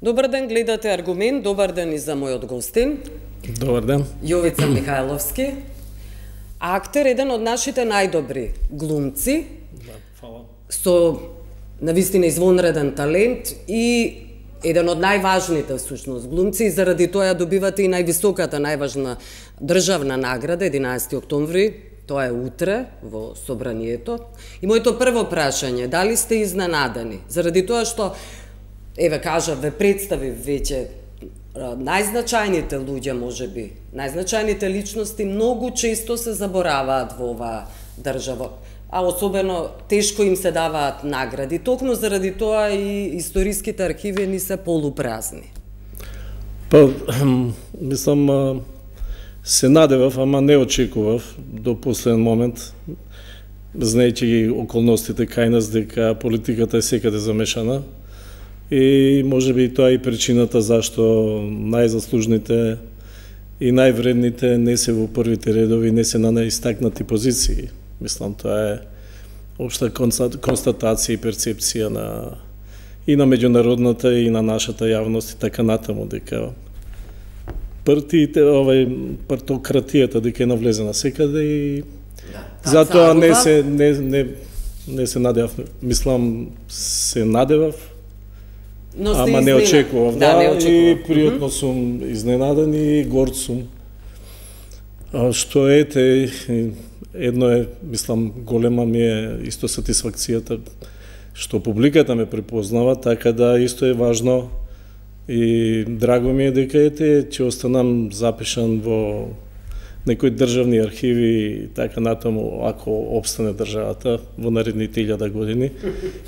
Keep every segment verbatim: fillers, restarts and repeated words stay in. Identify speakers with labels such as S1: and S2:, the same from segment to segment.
S1: Добар ден, гледате Аргумент. Добар ден и за мојот гостин.
S2: Добар ден.
S1: Јовица Михајловски. Актер, еден од нашите најдобри глумци.
S2: Да, фала.
S1: Со навистина извонреден талент и еден од најважните всушност глумци, и заради тоа ја добивате и највисоката, најважна државна награда единаесети октомври. Тоа е утре во собранието. И моето прво прашање, дали сте изненадени? Заради тоа што, еве кажа, ве представи веќе најзначајните луѓе, можеби, најзначајните личности многу често се забораваат во оваа држава, а особено тешко им се даваат награди. Токму заради тоа и историските архиви ни се полупразни.
S2: Па, мислам, се надевав, ама не очекував до последен момент, знаејќи ги околностите кај нас дека политиката е секаде замешана. И можеби тоа е и причината зашто најзаслужните и највредните не се во првите редови, не се на најистакнати позиции. Мислам, тоа е општа констатација и перцепција на и на меѓународната и на нашата јавност и така натаму, дека партиите, овај партократијата дека е навлезена секаде и да, затоа не се не не не се надевав, мислам се надевав.
S1: Но
S2: ама не очекував, да,
S1: да не очекував.
S2: И пријатно сум изненаден и горд сум. А што ете, едно е, мислам, голема ми е исто сатисфакцијата што публиката ме препознава, така да исто е важно и драго ми е дека ете ќе останам запишан во некои државни архиви и така натаму, ако обстане државата во наредните илјада години.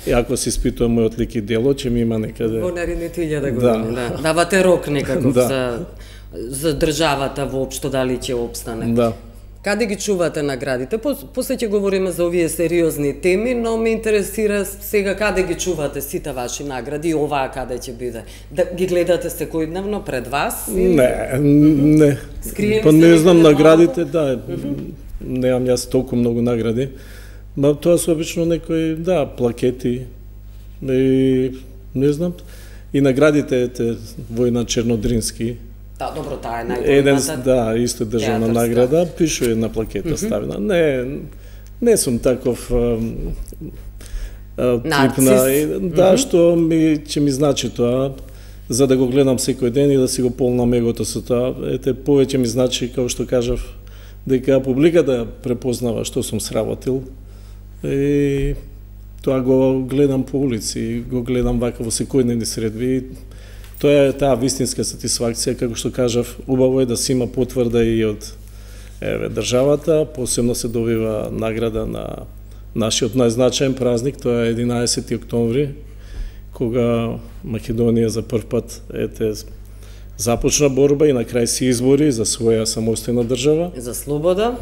S2: И ако се испитува мојот лик и дело, ќе ми има некаде...
S1: Во наредните илјада години, да. да. Давате рок некаков да. за, за државата воопшто, дали ќе обстане.
S2: Да.
S1: Каде ги чувате наградите? После ќе говориме за овие сериозни теми, но ме интересира сега каде ги чувате сите ваши награди и оваа каде ќе биде. Да ги гледате секојдневно пред вас? Или...
S2: Не, не.
S1: Скрием
S2: па не знам
S1: малко?
S2: наградите, да. Mm -hmm. Немам јас толку многу награди. Ма тоа се обично некои, да, плакети. И не знам. И наградите ете Војна Чернодрински.
S1: Да, добро, таа е
S2: Еден,
S1: најголемата.
S2: да, исто државна
S1: театарска
S2: награда, пишува на плакета mm -hmm. ставена. Не, не сум таков а, а, тип на, да, mm -hmm. што ми ќе ми значи тоа, за да го гледам секој ден и да си го полнам егото со тоа. Ете, повеќе ми значи, како што кажав, дека публиката препознава што сум сработил. И тоа го гледам по улици, го гледам вака во секојдневни средби. Тоа е таа вистинска сатисфакција, како што кажав, убаво е да се има потврда и од еве државата, посебно се добива награда на нашиот најзначаен празник, тоа е единаесети октомври, кога Македонија за прв пат ете започна борба и на крај се избори за своја самостојна држава.
S1: За слобода.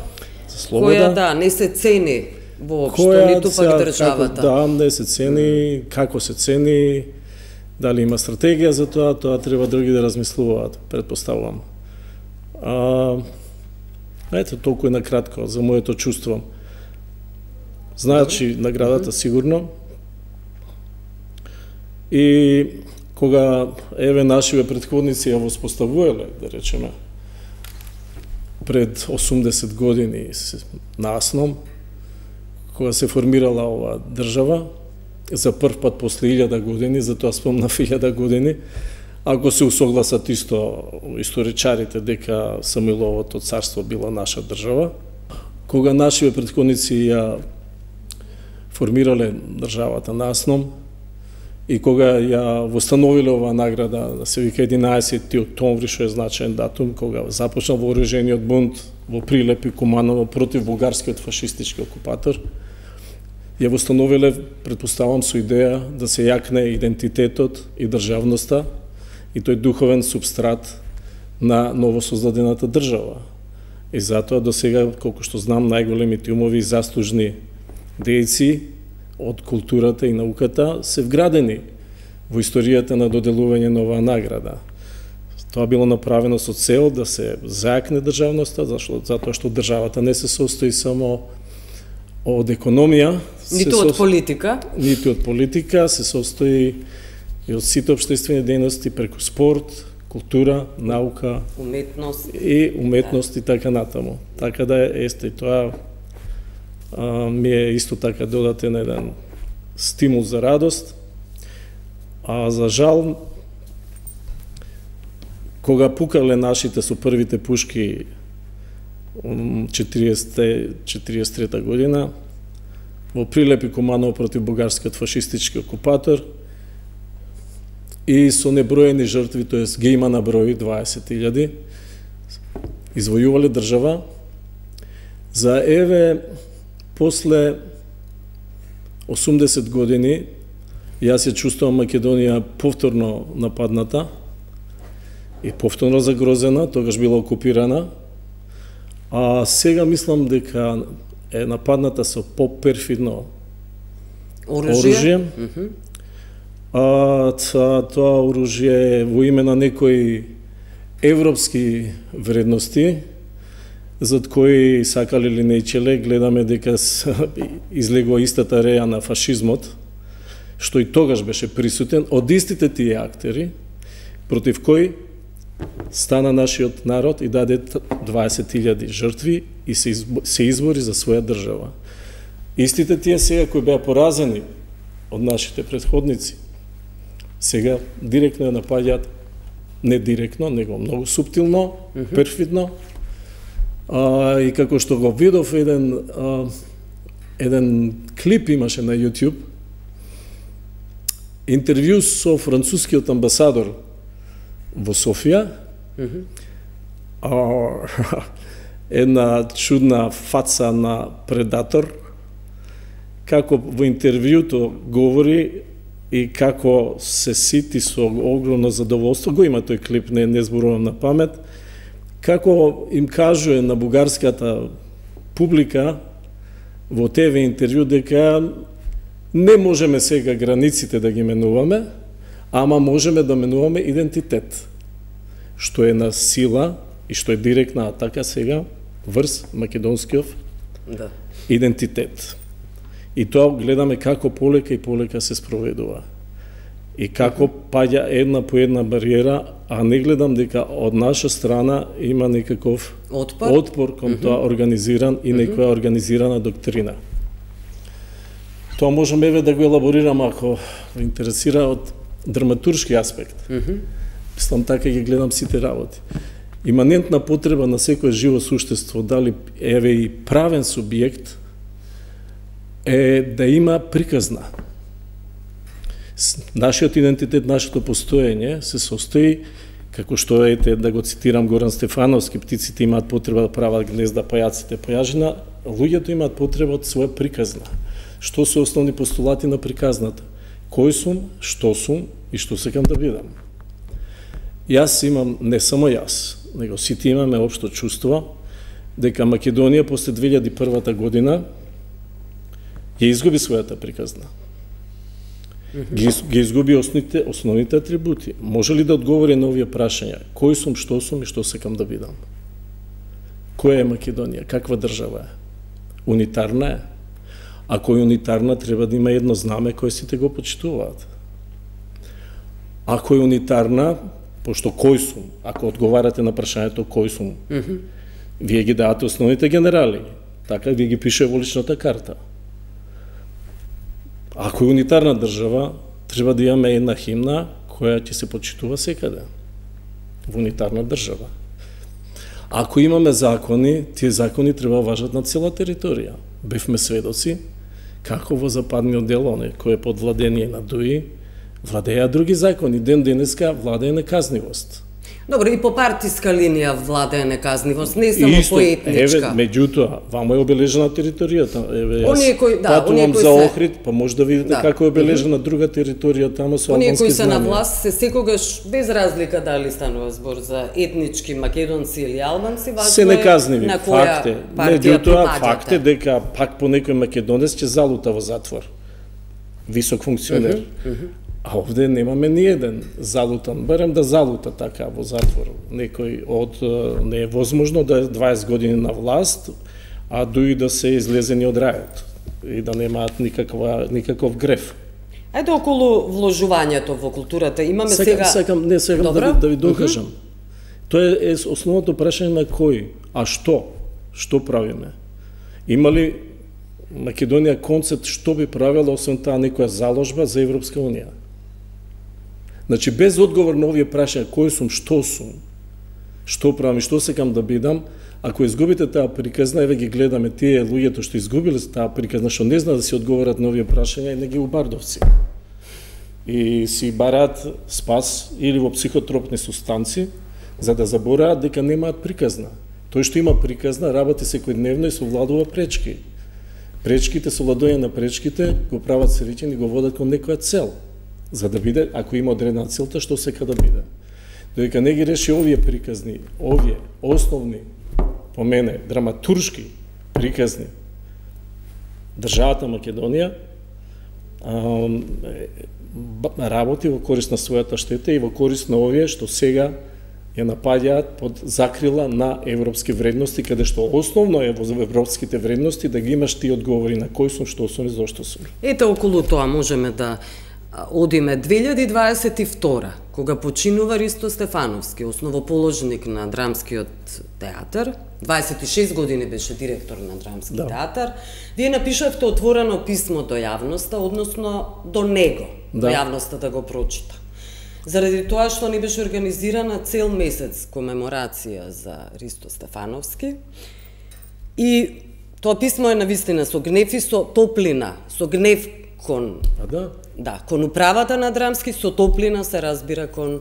S2: За слобода.
S1: Која да не се цени воопшто, ниту пак државата.
S2: Како, да, не се цени, mm. како се цени. Дали има стратегија за тоа, тоа треба други да размислуваат, предпоставувам. А, ето, толку е накратко за моето чувство. Значи, наградата сигурно. И кога, еве, нашиве предходници ја воспоставувале, да речеме, пред осумдесет години наасном, кога се формирала оваа држава, за прв пат после илјада години, затоа спомнав илјада години, ако се усогласат исто историчарите дека Самуиловото царство било наша држава, кога нашиве претходници ја формирале државата наасном и кога ја востановиле оваа награда, да се вика единаесети октомври, што е значаен датум, кога започна вооружениот бунт во Прилеп и Куманово против бугарскиот фашистички окупатор, ја востановиле, предпоставам, со идеја да се јакне идентитетот и државноста и тој духовен субстрат на новосоздадената држава. И затоа до сега, колку што знам, најголемите умови и заслужни дејци од културата и науката се вградени во историјата на доделување на оваа награда. Тоа било направено со цел да се зајакне државноста, зашто, затоа што државата не се состои само од економија,
S1: ниту од политика,
S2: ниту од политика, се состои и од сите општествени дејности преку спорт, култура, наука,
S1: уметност
S2: и уметност да. И така натаму. Така да есте тоа а, ми е исто така додатен еден стимул за радост. А за жал, кога пукале нашите со првите пушки четириесет и трета година, во Прилепи командувал против бугарскиот фашистички окупатор и со неброени жртви, тоест ги има на број дваесет илјади, извојувале држава. За еве, после осумдесет години, јас ја чувствувам Македонија повторно нападната и повторно загрозена, тогаш била окупирана, а сега мислам дека е нападната со по-перфидно оружје. оружје. Mm -hmm. А, та, тоа оружје во име на некои европски вредности, зад кои сакале или нејчеле, гледаме дека излегува истата реја на фашизмот, што и тогаш беше присутен од истите тие актери, против кои стана нашиот народ и даде дваесет илјади жртви и се, избо, се избори за своја држава. Истите тие сега кои беа поразени од нашите претходници, сега директно ја напаѓаат, не директно, него многу суптилно, mm -hmm. перфидно, а, и како што го видов еден, а, еден клип имаше на YouTube, интервју со францускиот амбасадор во Софија, mm -hmm. а, една чудна фаца на предатор, како во интервјуто говори и како се сити со огромно задоволство, го има тој клип, не, не зборувам на памет, како им кажува на бугарската публика во ТВ интервју дека не можеме сега границите да ги менуваме, ама можеме да менуваме идентитет, што е на сила и што е директна атака сега врз македонскиот да. идентитет. И тоа гледаме како полека и полека се спроведува. И како паѓа една по една бариера, а не гледам дека од наша страна има некаков отпор, отпор кон mm -hmm. тоа организиран и некоја организирана доктрина. Тоа можеме еве да го елаборирам ако ви интересира од драматуршки аспект. Mm -hmm. Мислам така ги гледам сите работи. Иманентна потреба на секое живо суштество, дали еве и правен субјект, е да има приказна. Нашиот идентитет, нашето постоење се состои, како што ете, да го цитирам Горан Стефановски, птиците имаат потреба да прават гнезда, пајаците појажина, луѓето имаат потреба од своја приказна. Што се основни постулати на приказната? Кој сум, што сум и што сакам да бидам. Јас имам, не само јас, него сите имаме општо чувство, дека Македонија после две илјади и прва година ја изгуби својата приказна. Ги, ги изгуби основните, основните атрибути. Може ли да одговори на овие прашања? Кој сум, што сум и што сакам да бидам? Која е Македонија? Каква држава е? Унитарна е? Ако е унитарна, треба да има едно знаме кој сите го почитуваат. Ако е унитарна, пошто кој сум, ако одговарате на прашањето кој сум, mm -hmm. вие ги давате основните генерали, така вие ги пише во личната карта. Ако е унитарна држава, треба да имаме една химна која ќе се почитува секаде. Во унитарна држава. Ако имаме закони, тие закони треба важат на цела територија. Бевме сведоци како во западниот дел, оне кој е под владение на ДУИ, владеја други закони. Ден денеска владее неказнивост.
S1: Добро, и по партиска линија владее неказнивост, не само по етничка.
S2: Еве, меѓутоа, вамо е обележена територијата. Еве,
S1: оние кои, да,
S2: патувам
S1: кои
S2: за
S1: се...
S2: Охрид, па може да видите да. Како е обележена друга територија тамо со
S1: оние
S2: албански
S1: кои се
S2: знамја.
S1: на власт се секогаш без разлика дали станува збор за етнички македонци или албанци, важно
S2: се неказниви,
S1: е на која
S2: факт е.
S1: партија
S2: Меѓутоа, факт е дека пак по некој македонец ќе залута во затвор. Висок функционер. Uh -huh, uh -huh. А овде немаме ни еден залутан, барем да залута така во затвор. Некој од не е возможно да е дваесет години на власт, а дуи да се излезени од рајот и да немаат никаква никаков греф.
S1: Ајде околу вложувањето во културата. Имаме
S2: Сека,
S1: сега...
S2: Сакам, не, сакам да ви, да ви докажам. Uh -huh. Тоа е, е основното прашање на кој, а што? Што правиме? Има ли Македонија концепт што би правила освен таа некоја заложба за Европска Унија? Значи, без одговор на овие прашања, кој сум, што сум, што правам и што сакам да бидам, ако изгубите таа приказна, еве ги гледаме тие луѓето што изгубиле таа приказна, што не знаат да си одговорат на овие прашања, и не ги убардовци. И си бараат спас или во психотропни сустанци, за да забораат дека немаат приказна. Тој што има приказна, работи секојдневно и совладува пречки. Пречките, совладување на пречките, го прават среќен и го водат кон некоја цел. За да биде, ако има одредена целта, што сека да биде. Додека не ги реши овие приказни, овие основни, по мене, драматуршки приказни, државата Македонија работи во корист на својата штета и во корист на овие што сега ја напаѓаат под закрила на европски вредности, каде што основно е во европските вредности да ги имаш ти одговори на кој сум, што сум и зошто сум.
S1: Ете, околу тоа можеме да одиме. две илјади дваесет и втора, кога починува Ристо Стефановски, основоположник на Драмскиот театар, дваесет и шест години беше директор на Драмски да. театар, вие напишавте отворено писмо до јавноста, односно до него, да. до јавноста да го прочита. Заради тоа што не беше организирана цел месец комеморација за Ристо Стефановски, и тоа писмо е навистина со гнев и со топлина, со гнев кон...
S2: А да?
S1: Да, кон управата на Драмски, со топлина се разбира кон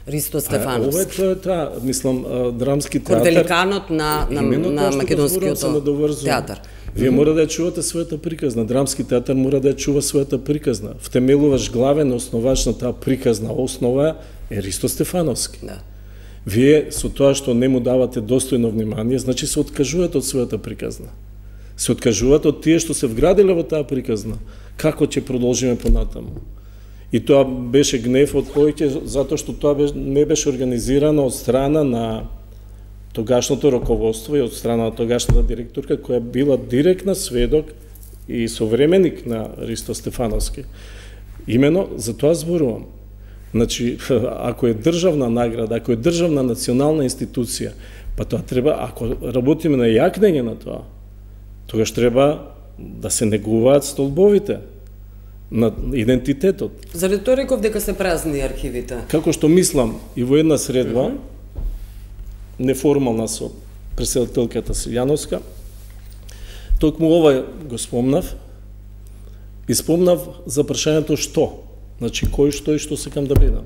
S1: Ристо Стефановски.
S2: Ова е тоа, мислам, Драмски театар...
S1: Кон великанот на, на, на македонскиот театар.
S2: Вие mm -hmm. мора да ја чувате својата приказна. Драмски театар мора да ја чува својата приказна. Втемелуваш главен основач на таа приказна основа е Ристо Стефановски.
S1: Да.
S2: Вие со тоа што не му давате достојно внимание, значи се откажувате од својата приказна. Се откажувате од тие што се вградиле во таа приказна. Како ќе продолжиме понатаму? И тоа беше гнев од повеќе, затоа што тоа не беше организирано од страна на тогашното раководство и од страна на тогашната директорка, која била директна сведок и современик на Ристо Стефановски. Имено за тоа зборувам. Значи, ако е државна награда, ако е државна национална институција, па тоа треба, ако работиме на јакнење на тоа, тогаш треба да се негуваат столбовите на идентитетот.
S1: Заради тоа реков дека се празни архивите.
S2: Како што мислам и во една средба, mm -hmm. неформална со председателката Силјановска, токму ова го спомнав и спомнав за прашањето што, значи кој, што и што сакам да бидам.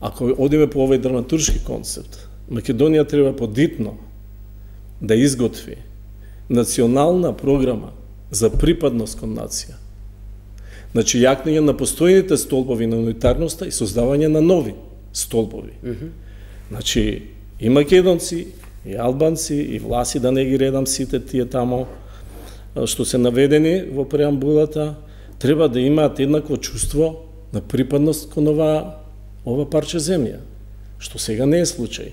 S2: Ако одиме по овој драматуршки концепт, Македонија треба подитно да изготви национална програма за припадност кон нација. Значи, јакнење на постојните столбови на унитарноста и создавање на нови столбови. Mm -hmm. Значи, и македонци, и албанци, и власи, да не ги редам сите тие тамо, што се наведени во преамбулата, треба да имаат еднакво чувство на припадност кон ова, ова парче земја, што сега не е случај.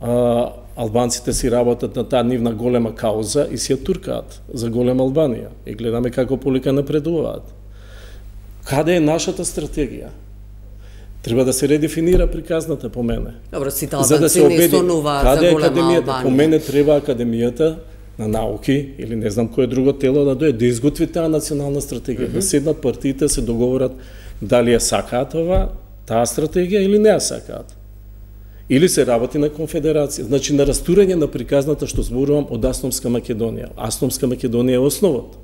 S2: А, албанците си работат на таа нивна голема кауза и си ја туркаат за голема Албанија. И гледаме како полека напредуваат. Каде е нашата стратегија? Треба да се редефинира приказната, по мене.
S1: Добро, сите албанци да не сонуваат за голема Албанија.
S2: По мене треба Академијата на науки, или не знам кој друго тело да дојде, да изготви таа национална стратегија, mm -hmm. да седнат партиите, се договорат дали ја сакаат ова, таа стратегија или не ја сакаат. Или се работи на конфедерација, значи на растурање на приказната што зборувам од Асномска Македонија. Асномска Македонија е основот,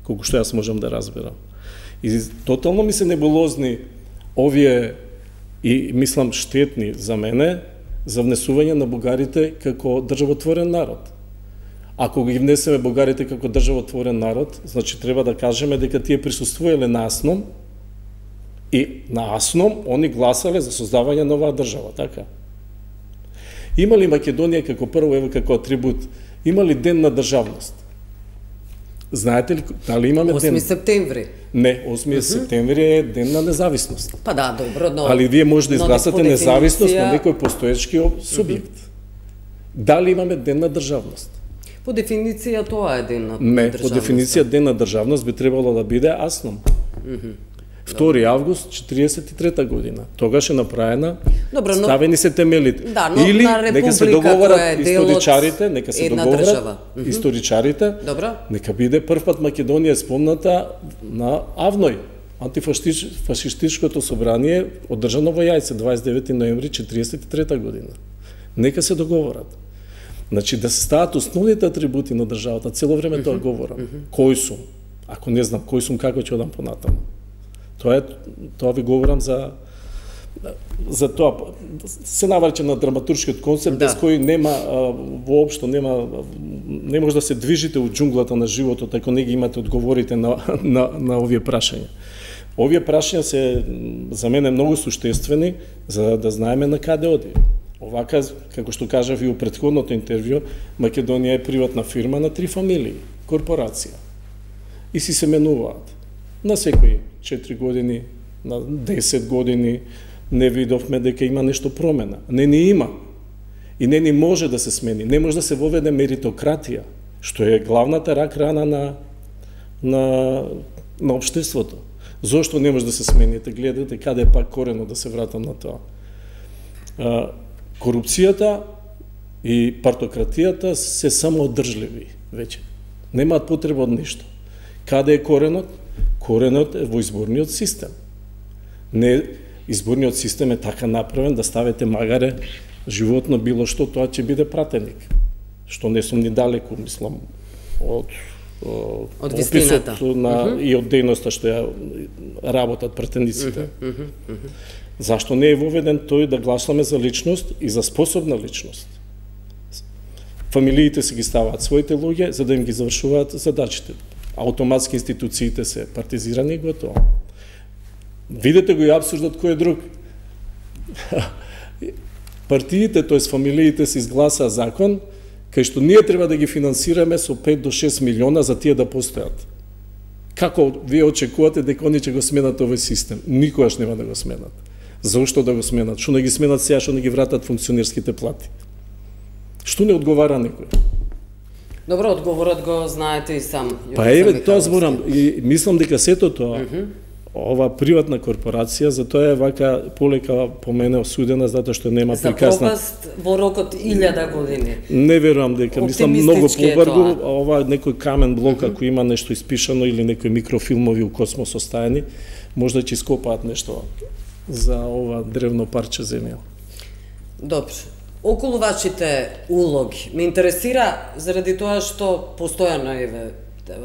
S2: колку што јас можам да разберам. И тотално ми се небулозни овие и мислам штетни за мене за внесување на бугарите како државотворен народ. Ако ги внесеме бугарите како државотворен народ, значи треба да кажеме дека тие присуствувале на Асном и на Асном они гласале за создавање на оваа држава, така? Има ли Македонија како прво, ево како атрибут, има ли ден на државност? Знаете ли, дали имаме ден?
S1: осми септември.
S2: Не, осми uh -huh. септември е ден на независност.
S1: Па да, добро, но...
S2: Али вие може да изгласате независност на некој постоечки субјект. Uh -huh. Дали имаме ден на државност?
S1: По дефиниција тоа е ден на
S2: Не,
S1: државност.
S2: по дефиниција ден на државност би требало да биде Асном. втори август четириесет и трета година. Тогаш е направена,
S1: Добро, но...
S2: ставени се темелите.
S1: Да, но
S2: Или
S1: на
S2: нека се договорат историчарите, нека се договорат историчарите,
S1: Добро.
S2: Нека биде прв пат Македонија спомната на Авној, антифашистичкото собрание одржано во Јајце дваесет и девети ноември четириесет и трета година. Нека се договорат. Значи да се стават основните атрибути на државата, цело време тоа говорам. Кој сум? Ако не знам кој сум, како ќе одам понатаму? Тоа е, тоа ви говорам за за тоа се наврче на драматуршкиот концепт, да. Без кој нема а, воопшто нема не може да се движите од џунглата на животот ако не ги имате одговорите на на на овие прашања. Овие прашања се за мене многу суштествени за да знаеме на каде оди. Овака, како што кажав и у претходното интервју, Македонија е приватна фирма на три фамилии, корпорација. И си се менуваат. На секои четири години, на десет години, не видовме дека има нешто промена. Не ни има. И не ни може да се смени. Не може да се воведе меритократија, што е главната рак рана на, на, на општеството. Зошто не може да се смените? Гледате каде е пак корено да се вратам на тоа. А, корупцијата и партократијата се самоодржливи веќе. Немаат потреба од ништо. Каде е коренот? Коренот е во изборниот систем. Не, изборниот систем е така направен да ставите магаре животно било што, тоа ќе биде пратеник. Што не сум ни далеку, мислам, од
S1: од вистината
S2: на uh -huh. и од дејноста што ја работат пратениците. Uh -huh. Uh -huh. Зашто не е воведен тој да гласаме за личност и за способна личност? Фамилиите се ги ставаат своите луѓе за да им ги завршуваат задачите. Автоматски институциите се партизирани и готово. Видете го и абсурдот кој е друг. Партиите, тоест фамилиите се изгласаа закон кај што ние треба да ги финансираме со пет до шест милиона за тие да постојат. Како вие очекувате дека они ќе го сменат овој систем? Никогаш нема да го сменат. Зошто да го сменат? Што не ги сменат сега, што не ги вратат функционерските плати? Што не одговара некој?
S1: Добро, одговорот го знаете и сам.
S2: Па еве, тоа зборам и мислам дека сето тоа, uh -huh. ова приватна корпорација, затоа е вака полека по мене осудена, затоа што нема
S1: за
S2: прикасна...
S1: За пропаст во рокот илјада години.
S2: Не верувам дека, мислам многу побрзо, ова некој камен блок, uh -huh. ако има нешто испишано или некои микрофилмови у космос оставени, можда ќе ископаат нешто за ова древно парче земја.
S1: Добро. Околу вашите улоги, ме интересира заради тоа што постојано еве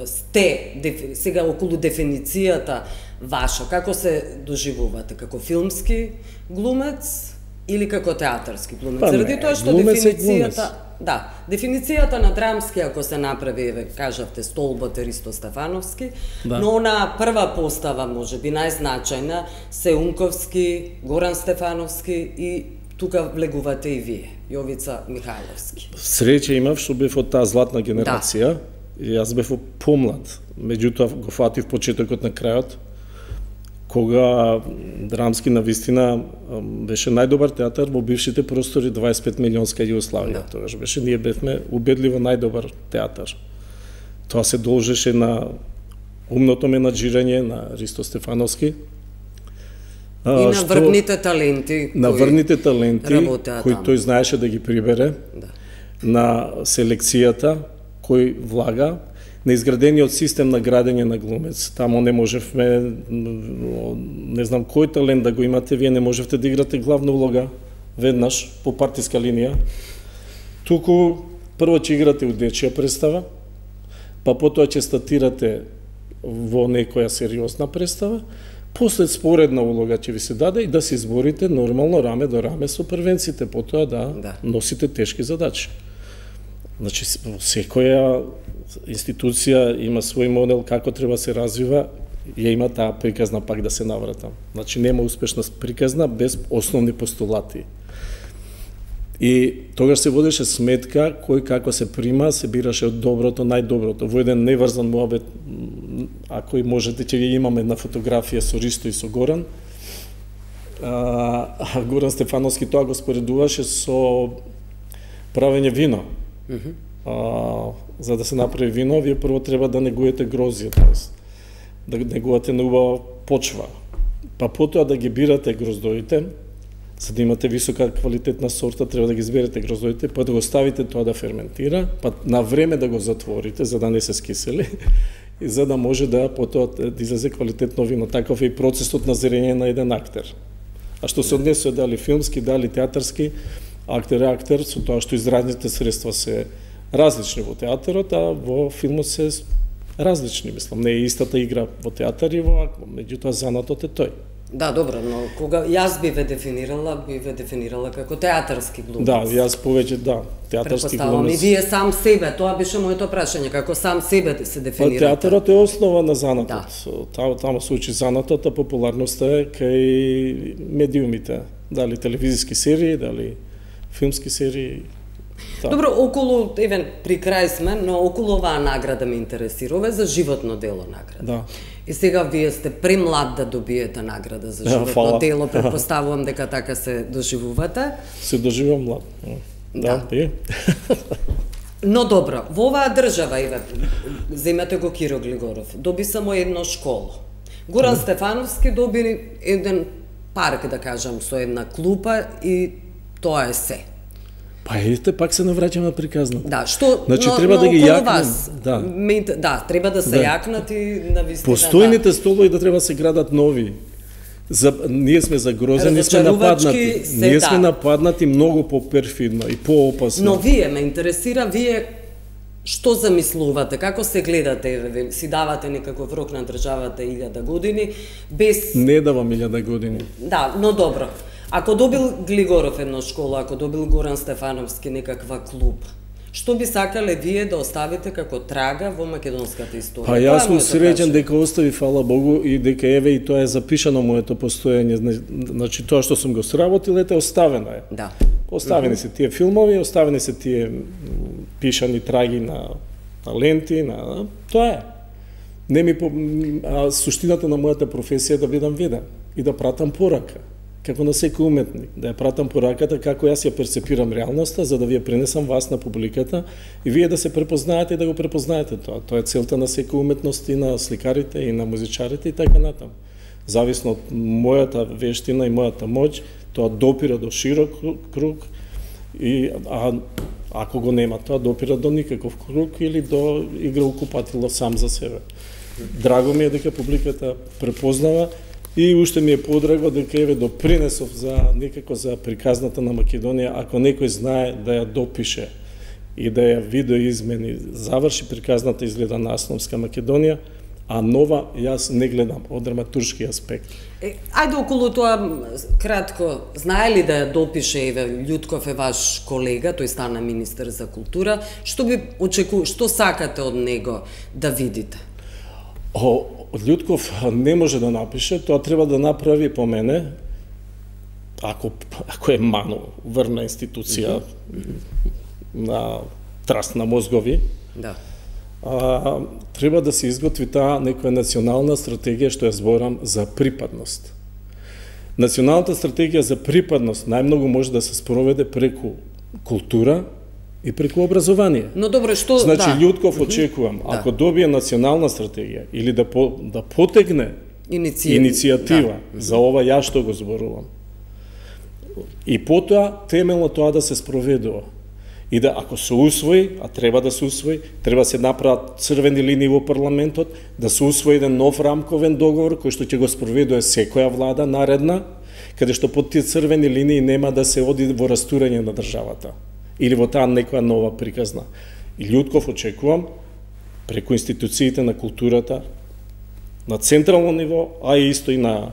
S1: сте сега околу дефиницијата ваша, како се доживувате, како филмски глумец или како театарски глумец?
S2: Па
S1: заради
S2: не,
S1: тоа што дефиницијата, да, дефиницијата на драмски ако се направи, еве кажавте Столбот е Ристо Стефановски, да. Но на прва постава можеби најзначајна се Унковски, Горан Стефановски и тука влегувате и вие, Јовица Михајловски.
S2: Среќа имав што бев од таа златна генерација, да. И јас бев помлад, меѓутоа го фатив почетокот на крајот, кога драмски навистина беше најдобар театар во бившите простори дваесет и пет милионска Југославија. Да. Тогаш беше, ние бевме убедливо најдобар театар. Тоа се должеше на умното менаџирање на Ристо Стефановски,
S1: и на што, врвните таленти
S2: на врвните таленти кои
S1: там.
S2: Тој знаеше да ги прибере, да. На селекцијата кој влага, на изградениот систем на градење на глумец. Тамо не можевме, не знам кој талент да го имате, вие не можевте да играте главна улога веднаш по партиска линија. Туку прво ќе играте у дечија представа, па потоа ќе статирате во некоја сериозна представа, после споредна улога ќе ви се даде и да се изборите нормално раме до раме со првенците, потоа да, да. Носите тешки задачи. Значи, секоја институција има свој модел како треба се развива, ја има таа приказна пак да се навратам. Значи, нема успешна приказна без основни постулати. И тогаш се водеше сметка кој како се прима, се бираше од доброто, најдоброто. Во еден неврзан муабет, ако и можете, ќе ги имаме на фотографија со Ристо и со Горан. А, Горан Стефановски тоа го споредуваше со правење вино. Mm -hmm. а, за да се направи вино, вие прво треба да негуете грозје, тоест да негувате на убава почва. Па потоа да ги бирате гроздоите, за да имате висока квалитетна сорта, треба да ги изберете гроздоите, па да го ставите тоа да ферментира, па на време да го затворите, за да не се скисели, и за да може да потоа да излезе квалитетно вино. Таков е и процесот на зрење на еден актер. А што се однесува дали филмски, дали театарски, актер е актер, со тоа што изразните средства се различни во театарот, а во филмот се различни, мислам. Не е истата игра во театар и во аква, меѓутоа занатот е тој.
S1: Да, добро, но кога јас би ве дефинирала, би ве дефинирала како театарски глумец.
S2: Да, јас повеќе, да, театарски глумец.
S1: И вие сам себе, тоа беше моето прашање, како сам себе се дефинирате.
S2: Па театарот е основа на занатот. Да. Таму се учи занатот, а популарноста е кај медиумите. Дали телевизиски серии, дали филмски серии. Да.
S1: Добро, околу, евен, при крај сме, но околу оваа награда ме интересира. Ова е за животно дело награда.
S2: Да.
S1: И сега вие сте премлад да добиете награда за животно
S2: да,
S1: дело, предпоставувам дека така се доживувате.
S2: Се доживувам млад. Да, да.
S1: Но добро, во оваа држава, еве, земете го Киро Глигоров, доби само едно школо. Горан mm. Стефановски доби еден парк, да кажам, со една клупа и тоа е се.
S2: Па ете, пак се навраќаме на приказната.
S1: Да, што,
S2: значи,
S1: но,
S2: треба
S1: но,
S2: да ги јакнем.
S1: Вас,
S2: да.
S1: Ме, да, треба да се да. јакнат и на вистина.
S2: Постојните да. столови да треба се градат нови. За, ние сме загрозени, ние сме нападнати. Се, ние да. сме нападнати многу по-перфидно и по-опасно.
S1: Но вие, ме интересира, вие што замислувате, како се гледате, си давате некаков рок на државата илјада години, без...
S2: Не давам илјада години.
S1: Да, но добро. Ако добил Глигоров една школа, ако добил Горан Стефановски некаква клуб, што би сакале вие да оставите како трага во македонската историја?
S2: Па јас сум среќен дека остави, фала Богу, и дека еве и тоа е запишано моето постоење. Значи тоа што сум го сработил, ете оставено е.
S1: Да.
S2: Оставени се тие филмови, оставени се тие пишани траги на, на ленти, на тоа е. Не ми по... а суштината на мојата професија е да бидам виден и да пратам порака. Како на секој уметник, да ја пратам пораката како јас ја перцепирам реалноста, за да ви ја пренесам вас на публиката и вие да се препознаете и да го препознаете тоа. Тоа е целта на секој уметност и на сликарите и на музичарите и така натаму. Зависно од мојата вештина и мојата моќ, тоа допира до широк круг и а ако го нема тоа допира до никаков круг или до играукупатило сам за себе. Драго ми е дека публиката препознава. И уште ми е подраго дека еве допринесов за некако за приказната на Македонија, ако некој знае да ја допише и да ја видоизмени, заврши приказната изгледа на Асновска Македонија, а нова јас не гледам од драматуршки аспект.
S1: Е, ајде околу тоа кратко, знае ли да ја допише, еве Љутков е ваш колега, тој стана министер за култура, што би очеку, што сакате од него да видите?
S2: О, Љутков не може да напише, тоа треба да направи по мене, ако, ако е мано, врна институција mm -hmm. на траст на мозгови,
S1: да.
S2: а, треба да се изготви таа некоја национална стратегија, што ја зборам, за припадност. Националната стратегија за припадност најмногу може да се спроведе преку култура и преку образование.
S1: Но добро, што...
S2: Значи,
S1: да.
S2: Љутков очекувам, да. ако добие национална стратегија или да, по, да потегне Иницијатива, иницијатива да. за ова ја што го зборувам. И потоа, темелно тоа да се спроведува. И да, ако се усвои, а треба да се усвои, треба се направат црвени линии во парламентот, да се усвои еден нов рамковен договор, кој што ќе го спроведува секоја влада наредна, каде што под тие црвени линии нема да се оди во растурање на државата или во таа некоја нова приказна. И Љутков очекувам, преку институциите на културата, на централно ниво, а и исто и на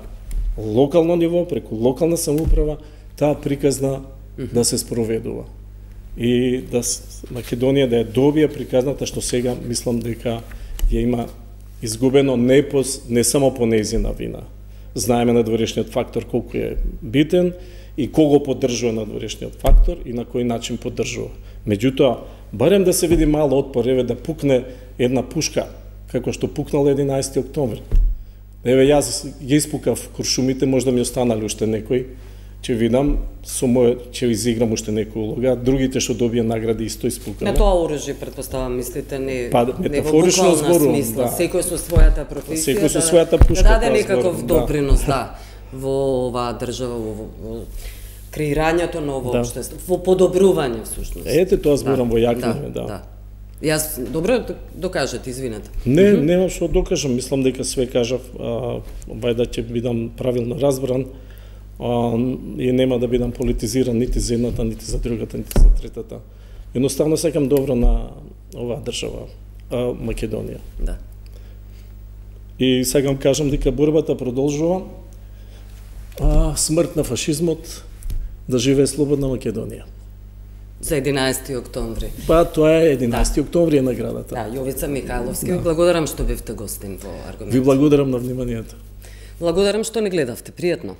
S2: локално ниво, преку локална самоуправа, таа приказна mm-hmm. да се спроведува. И да Македонија да ја добие приказната што сега мислам дека ја има изгубено не, по, не само по нејзина вина. Знаеме надворешниот фактор колку е битен и кого поддржува надворешниот фактор и на кој начин поддржува. Меѓутоа, барем да се види мало отпор, еве да пукне една пушка, како што пукнал единаесети октомври. Еве јас ги испукав куршумите, можда ми останали уште некои, ќе видам со мој ќе изиграм уште некоја улога, другите што добија награди исто исполкале.
S1: На тоа оружје претпоставам мислите не
S2: па,
S1: не во буквална смисла,
S2: да.
S1: Секој со својата професија,
S2: секој со својата пушка,
S1: да даде некаков
S2: да.
S1: допринос, да, во оваа држава, во, во креирањето на ово да. општество, во подобрување всушност.
S2: Ете тоа зборам
S1: да.
S2: во јакнење, да.
S1: да. да. Јас добро докажете, извинете.
S2: Не, mm -hmm. немам што докажам, мислам дека све кажав, вајда ќе бидам правилно разбран. А, и нема да бидам политизиран нити за едната, нити за другата, нити за третата. Едноставно сакам добро на оваа држава, а, Македонија.
S1: Да.
S2: И сакам кажам дека борбата продолжува. А, смрт на фашизмот, да живее слободна Македонија.
S1: За единаесети октомври.
S2: Па тоа е единаесети октомври е наградата.
S1: Да, Јовица Михајловски, да. Ви благодарам што бевте гостин во Аргумент.
S2: Ви благодарам на вниманието.
S1: Благодарам што не гледавте, пријатно.